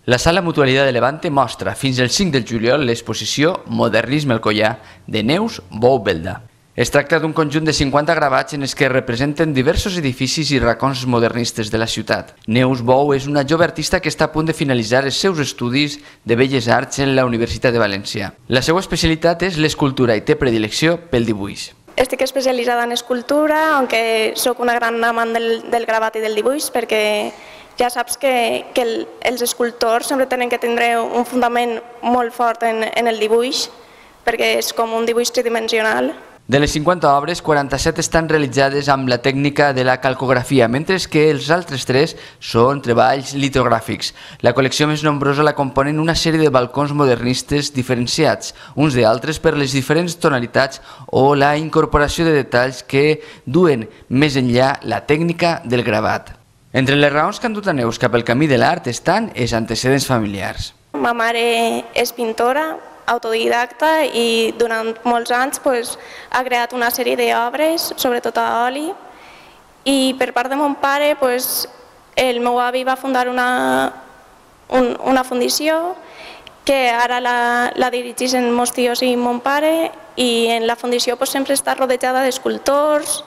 La Sala Mutualidad de Levante mostra fins al 5 de juliol l'exposició Modernisme Alcoià de Neus Bou Belda. Es tracta d'un conjunt de 50 gravats en els que representen diversos edificis i racons modernistes de la ciutat. Neus Bou és una jove artista que està a punt de finalitzar els seus estudis de Belles Arts en la Universitat de València. La seva especialitat és l'escultura i té predilecció pel dibuix. Estic especialitzada en escultura, aunque sóc una gran amant del gravat i del dibuix, perquè ja saps que els escultors sempre tenen que tindre un fundament molt fort en el dibuix, perquè és com un dibuix tridimensional. De les 50 obres, 47 estan realitzades amb la tècnica de la calcografia, mentre que els altres 3 són treballs litogràfics. La col·lecció més nombrosa la componen una sèrie de balcons modernistes diferenciats, uns d'altres per les diferents tonalitats o la incorporació de detalls que duen més enllà la tècnica del gravat. Entre les raons que han dut a Neus cap al camí de l'art estan els antecedents familiars. Ma mare és pintora, autodidacta, i durant molts anys ha creat una sèrie d'obres, sobretot a oli, i per part de mon pare el meu avi va fundar una fundació que ara la dirigeixen meus tios i mon pare, i en la fundació sempre està rodejada d'escultors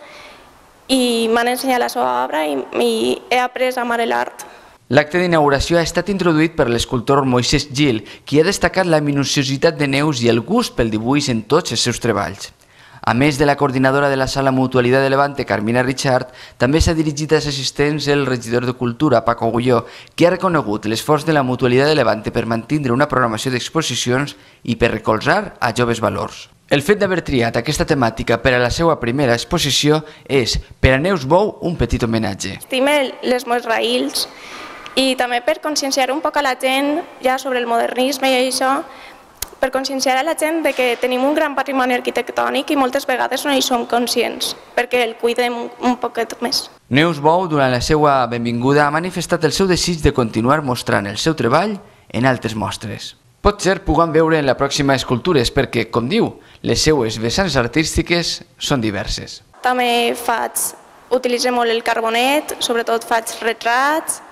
i m'han ensenyat la seva obra i he après a amar l'art. L'acte d'inauguració ha estat introduït per l'escultor Moisès Gil, qui ha destacat la minuciositat de Neus i el gust pel dibuix en tots els seus treballs. A més de la coordinadora de la Sala Mutualidad de Levante, Carmina Richard, també s'ha dirigit als assistents el regidor de Cultura, Paco Agulló, que ha reconegut l'esforç de la Mutualidad de Levante per mantenir una programació d'exposicions i per recolzar a joves valors. El fet d'haver triat aquesta temàtica per a la seva primera exposició és, per a Neus Bou, un petit homenatge. Estime les meves raïls i també per conscienciar un poc a la gent ja sobre el modernisme i això, per conscienciar a la gent de que tenim un gran patrimoni arquitectònic i moltes vegades no hi som conscients, perquè el cuidem un poquet més. Neus Bou, durant la seva benvinguda, ha manifestat el seu desig de continuar mostrant el seu treball en altres mostres. Potser puguem veure en la pròxima escultures perquè, com diu, les seues vessants artístiques són diverses. També utilitzo molt el carbonet, sobretot faig retrats,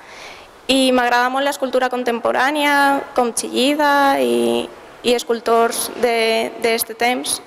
i m'agrada molt l'escultura contemporània, com Chillida i escultors d'aquest temps.